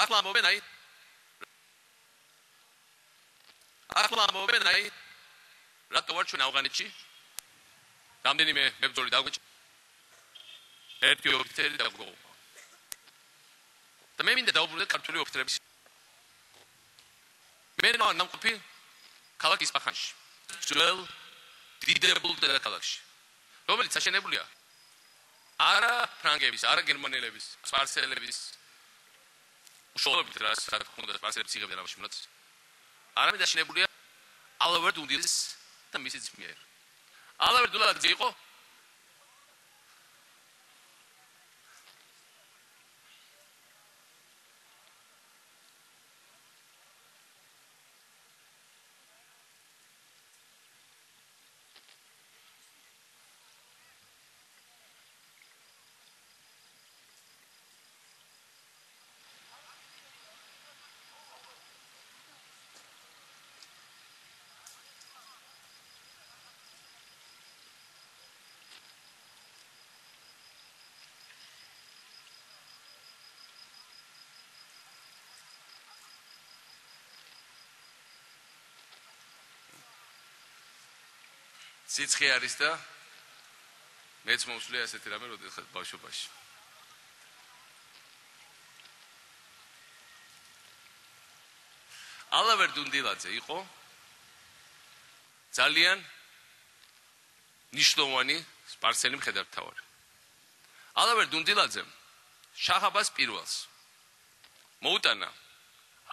ახლა ამბობენ აი რატო ვარ ჩვენ ავღანეთში რამდენიმე მებრძოლი დაგვეჭ ერთი ოფიცერი დაგვეყო და მე მინდა დავუბრუნდე ქართული ოფიცერების მე ნამყოფი ქალაქ ისპაჰანში ძველ დიდებულ დედაქალაქში რომელიც აშენებულია არა ფრანგების არა გერმანელების სპარსელების უშუალოდ რა თქმა უნდა სპარსელებს იღებდნენ ამაში მონაწილეობას არამედ აშენებულია ალავერ დუნდილის და მისი ძმიერ. ალავერ დუნდილა იყო სიცხე არის და მეც მომსვლია ასეთი რამე როდესაც ბავშვობაში. ალავერ დუნდილაძე იყო ძალიან ნიშნოვანი სპარსელი მხედართმთავარი. ალავერ დუნდილაძემ შაჰ-აბას პირველს მოუტანა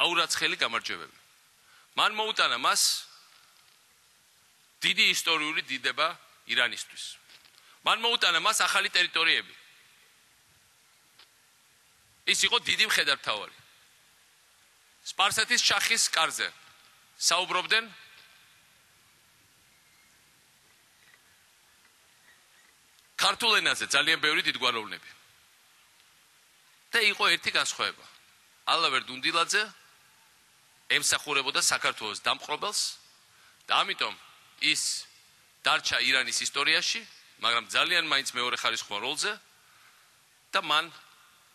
აურაცხელი გამარჯვებები. მან მოუტანა მას დიდი ისტორიული დიდება ირანისთვის. მან მოუტანა მას ახალი ტერიტორიები. ის იყო დიდი მხედართმთავარი. სპარსეთის შახის კარზე საუბრობდნენ ქართულ ენაზე ძალიან ბევრი დიდგვაროვნები. და იყო ერთი განსხვავება. ალავერ დუნდილაძე ემსახურებოდა საქართველოს დამპყრობელს და ამიტომ ის დარჩა ირანის ისტორიაში, მაგრამ ძალიან მაინც მეორე ხარისხიან როლზე და მან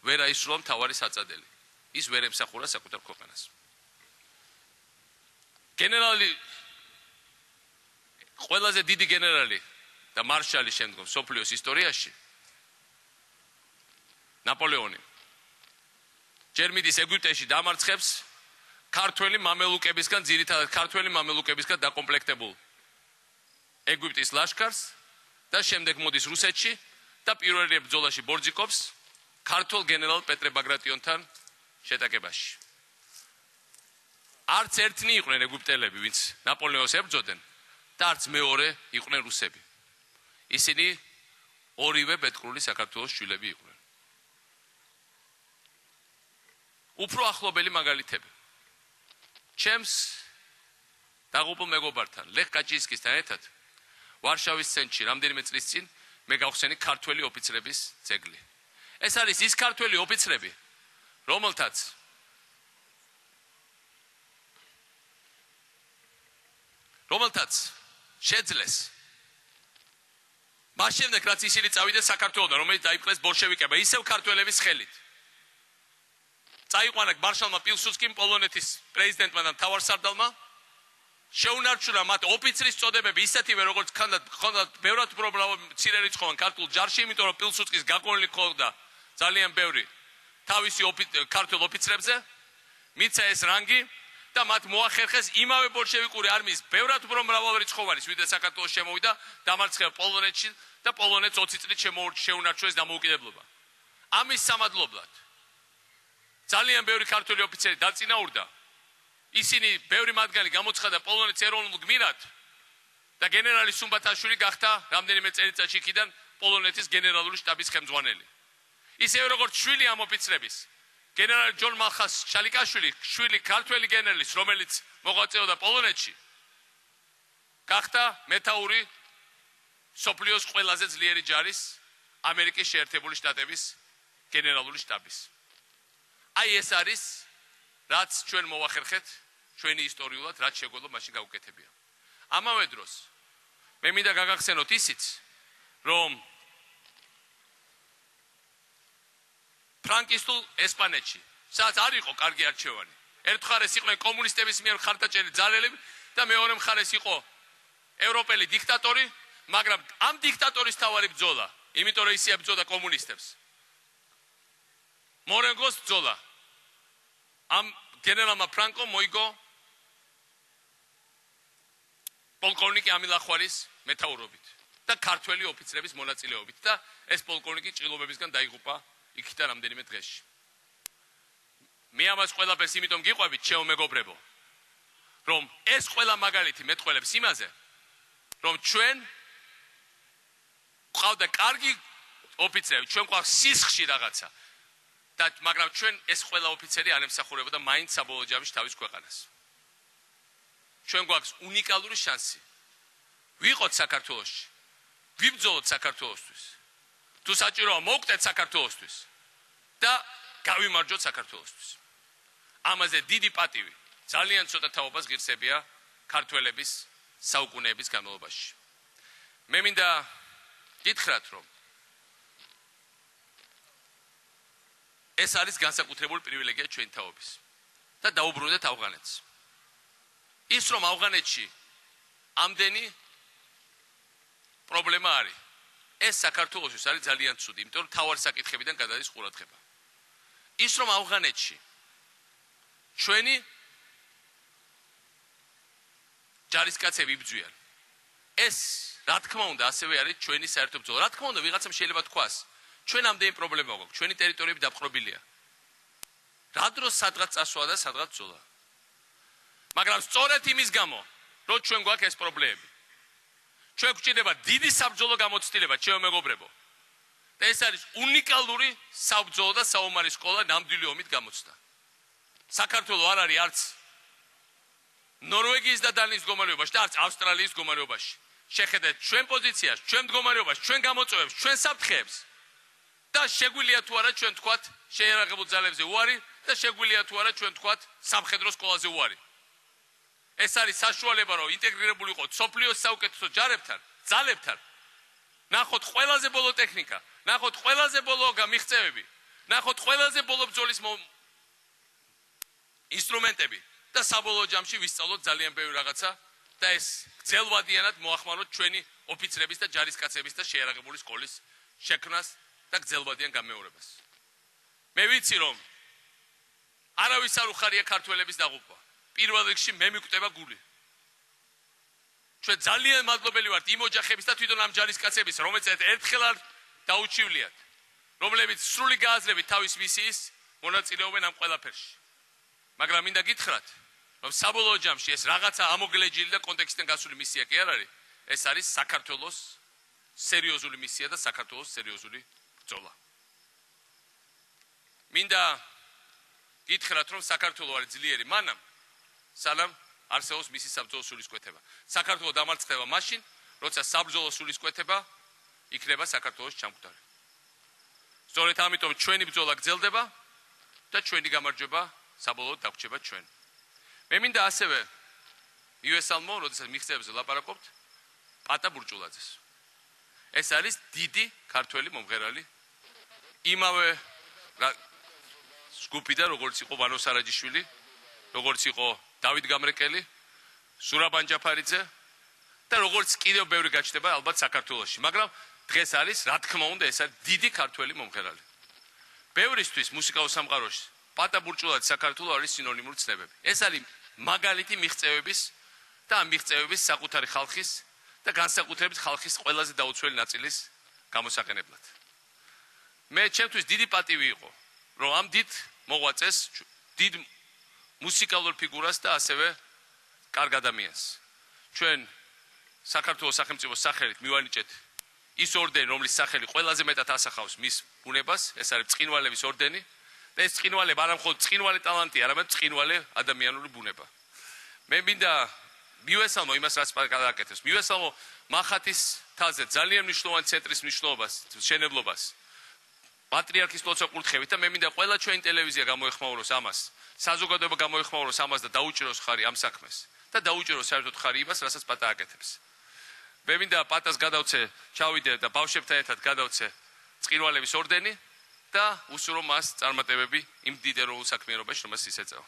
ვერ აისრულა მთავარი საწადელი. ის ვერ ემსახურა საკუთარ ქვეყანას. გენერალი ყველაზე დიდი გენერალი და მარშალი შემდგომ სოფლიოს ისტორიაში ნაპოლეონი ჯერ მიდის ეგვიპტეში დამარცხებს ქართველი მამელუკებისგან ძირითადად ქართველი მამელუკებისგან დაკომპლექტებულ ეგვიპტის ლაშქარს და შემდეგ მოდის რუსეთში და პირველ ბრძოლაში ბორძიკობს ქართულ გენერალ პეტრე ბაგრატიონთან შეტაკებაში. არც ერთნი იყვნენ ეგვიპტელები, ვინც ნაპოლეონს ებრძოდნენ და არც მეორე იყვნენ რუსები. ისინი ორივე ბეთკრული საქართველოს შვილები იყვნენ. უფრო ახლობელი მაგალითები. ჩემს დაღუპულ მეგობართან ლეხ კაჩინსკისთან ერთად ვარშავის ცენტრში რამდენიმე წლის წინ მე გავხსენი ქართველი ოფიცრების ძეგლი. ეს არის ის ქართველი ოფიცრები, რომელთაც შეძლეს მას შემდეგ რაც ისინი წავიდნენ საქართველოდან, რომელიც დაიპყრეს ბოლშევიკებმა, ისევ ქართველების ხელით. წაიყვანა მარშალმა პილსუდსკიმ, პოლონეთის პრეზიდენტმა და მთავარსარდალმა, შეუნარჩუნა მათ ოფიცრის წოდებები ისეთივე როგორც ჰქონდათ ბევრად უფრო მცირერიცხოვან ქართულ ჯარში, იმიტომ რომ პილსუდსკის გაგონილი ჰქონდა ძალიან ბევრი თავისი ქართულ ოფიცრებზე, მიცა ეს რანგი და მათ მოახერხეს იმავე ბოლშევიკური არმიის ბევრად უფრო მრავალრიცხოვანი, ვიდრე საქართველოს შემოვიდა, დამარცხება პოლონეთში და პოლონეთს 20 წლით შეუნარჩუნეს დამოუკიდებლობა. ამის სამადლებლად ძალიან ბევრი ქართველი ოფიცერი დაწინაურდა. ისინი ბევრი მათგანი გამოცხადა პოლონეთის ეროვნულ გმირად და გენერალი სუმბათაშვილი გახდა რამდენიმე წელიწადში იქიდან პოლონეთის გენერალური შტაბის ხელმძღვანელი. ისევე როგორც შვილი ამ ოფიცრების გენერალი ჯონ მალხას შალიკაშვილი, შვილი ქართველი გენერლის, რომელიც მოღვაწეობდა პოლონეთში, გახდა მეთაური სოფლიოს ყველაზე ძლიერი ჯარის ამერიკის შეერთებული შტატების გენერალური შტაბის. აი ეს არის რაც ჩვენ მოვახერხეთ ჩვენი ისტორიულად რაც შეგვეძლო მაშინ გავუკეთებია. ამავე დროს მე მინდა გაგახსენოთ ისიც, რომ ფრანკისტულ ესპანეთში სადაც არ იყო კარგი არჩევანი. ერთ მხარეს იყვნენ კომუნისტების მიერ მხარდაჭერილი ძალელები და მეორე მხარეს იყო ევროპელი დიქტატორი, მაგრამ ამ დიქტატორის თავარი ბრძოლა, იმიტომ რომ ისე ებრძოდა კომუნისტებს. მორენგოს ბრძოლა. ამ გენერალმა ფრანკო მოიგო პოლკოვნიკი ამილახვარის მეთაურობით და ქართველი ოფიცრების მონაწილეობით და ეს პოლკოვნიკი ჭრილობებისგან დაიღუპა იქიდან რამდენიმე დღეში. მე ამას ყველაფერს იმიტომ გიყვებით, ჩემო მეგობრებო, რომ ეს ყველა მაგალითი მეტყველებს იმაზე, რომ ჩვენ ყავდა კარგი ოფიცრები, ჩვენ ყავს სისხლში რაღაცა და მაგრამ ჩვენ ეს ყველა ოფიცერი არ ემსახურებოდა მაინც საბოლოო ჯამში თავის ქვეყანას. ჩვენ გვაქვს უნიკალური შანსი. ვიყოთ საქართველოში. ვიბრძოლოთ საქართველოსთვის. თუ საჭიროა მოვკვდეთ საქართველოსთვის და გავიმარჯვოთ საქართველოსთვის. ამაზე დიდი პატივი, ძალიან ცოტა თაობას ღირსებია ქართველების საუკუნეების განმავლობაში. მე მინდა გითხრათ, რომ ეს არის განსაკუთრებული პრივილეგია ჩვენი თაობის და დაუბრუნდეთ ავღანეთს. ის რომ ავღანეთში ამდენი პრობლემა არის, ეს საქართველოსთვის არის ძალიან ცუდი, იმიტომ რომ თავარი საკითხებიდან გადადის ყურადღება. ის რომ ავღანეთში ჩვენი ჯარისკაცები იბრძვიან, ეს რა თქმა უნდა ასევე არის ჩვენი საერთო ბრძოლა. რა თქმა უნდა ვიღაცამ შეიძლება თქვას, ჩვენ ამდენი პრობლემა გვაქვს, ჩვენი ტერიტორიები დაპყრობილია. რა დროს სადღაც წასვლა და სადღაც ბრძოლა. მაგრამ სწორედ იმის გამო, რომ ჩვენ გვაქვს ეს პრობლემები. ჩვენ გვჭირდება დიდი საბრძოლო გამოცდილება, ჩემო მეგობრებო. და ეს არის უნიკალური საბრძოლო და საომარი სკოლა ნამდვილი ომით გამოცდა. საქართველო არ არის არც ნორვეგიის და დანიის მდგომარეობაში და არც ავსტრალიის მდგომარეობაში. შეხედეთ ჩვენ პოზიციას, ჩვენ მდგომარეობას, ჩვენ გამოწვევებს, ჩვენ საფრთხეებს და შეგვიძლია თუ არა ჩვენ თქვათ შეიარაღებულ ძალებზე უარი და შეგვიძლია თუ არა ჩვენ თქვათ სამხედრო სკოლაზე უარი. ეს არის საშუალება, რომ ინტეგრირებული იყოთ სოფლიოს საუკეთესო ჯარებთან, ძალებთან. ნახოთ ყველაზე ბოლო ტექნიკა, ნახოთ ყველაზე ბოლო მიღწევები, ნახოთ ყველაზე ბოლო ბრძოლის ინსტრუმენტები და საბოლოო ჯამში ვისწავლოთ ძალიან ბევრი რაღაცა და ეს გრძელვადიანად მოახმაროთ ჩვენი ოფიცრების და ჯარისკაცების და შეიარაღებული სკოლის შექმნას და გრძელვადიან გამეორებას. მე ვიცი, რომ არავის არ უხარია ქართველების დაღუპვა. პირველ რიგში მე მიკვდება გული. ჩვენ ძალიან მადლობელი ვართ იმ ოჯახების და თვითონ ამ ჯარისკაცების, რომელიც ერთხელ არ დაუჩივლიათ, რომლებიც სრული გააზრებით თავის მისიის მონაწილეობენ ამ ყველაფერში. მაგრამ მინდა გითხრათ, რომ საბოლოო ჯამში ეს რაღაცა ამოგლეჯილი და კონტექსტიდან გასული მისია კი არ არის, ეს არის საქართველოს სერიოზული მისია და საქართველოს სერიოზული ბრძოლა. მინდა გითხრათ, რომ საქართველო არის ძლიერი მანამ, სანამ არსებობს მისი საბრძოლო სულისკვეთება. საქართველო დამარცხდება მაშინ, როცა საბრძოლო სულისკვეთება იქნება საქართველოს ჩამკვდარი. სწორედ ამიტომ ჩვენი ბრძოლა გრძელდება და ჩვენი გამარჯვება საბოლოოდ დაგვრჩება ჩვენ. მე მინდა ასევე იუესალმო, როდესაც მიღწევებზე ლაპარაკობთ, პატა ბურჭულაძეს. ეს არის დიდი ქართველი მომღერალი, იმავე ჯგუფიდან, როგორც იყო ვანო სარაჯიშვილი, როგორც იყო დავით გამრეკელი, სურაბ ანჯაფარიძე და როგორც კიდევ ბევრი გაჩნდება ალბათ საქართველოში, მაგრამ დღეს არის, რა თქმა უნდა, ეს არის დიდი ქართველი მომღერალი. ბევრისთვის მუსიკალურ სამყაროში პატა ბურჭულაძე საქართველო არის სინონიმური ცნებები. ეს არის მაგალითი მიღწევების და ამ მიღწევების საკუთარი ხალხის და განსაკუთრებით ხალხის ყველაზე დაუცველი ნაწილის გამოსაყენებლად. მე ჩემთვის დიდი პატივი იყო, რომ ამ დიდ მოღვაწეს, დიდ მუსიკალურ ფიგურას და ასევე კარგ ადამიანს ჩვენ საქართველოს სახელმწიფოს სახელით მივანიჭეთ ის ორდენი, რომლის სახელი ყველაზე მეტად ასახავს მის ბუნებას, ეს არის წყინვალების ორდენი. და ეს წყინვალება არა მხოლოდ წყინვალე ტალანტია, არამედ წყინვალე ადამიანური ბუნება. მე მინდა მიუესალმო იმას, რაც გადააკეთეს. მიუესალმო მახათის თაზე ძალიან მნიშვნელოვანი ცენტრის მნიშვნელობას, მშენებლობას. პატრიარქის ლოცვა კურთხევით და მე მინდა ყველა ჩვენი ტელევიზია გამოეხმაუროს ამას. საზოგადოება გამოეხმაუროს ამას და დაუჭიროს ხარი ამ საქმეს. და დაუჭიროს საერთოდ ხარი იმას, რასაც პატა აკეთებს. მე მინდა პატას გადავცე, ჩავიდე და ბავშვებთან ერთად გადავცე წყინვალების ორდენი და უსურო მას წარმატებები იმ დიდ ეროვნულ საქმიანობაში, რომელსაც ის ეწევა.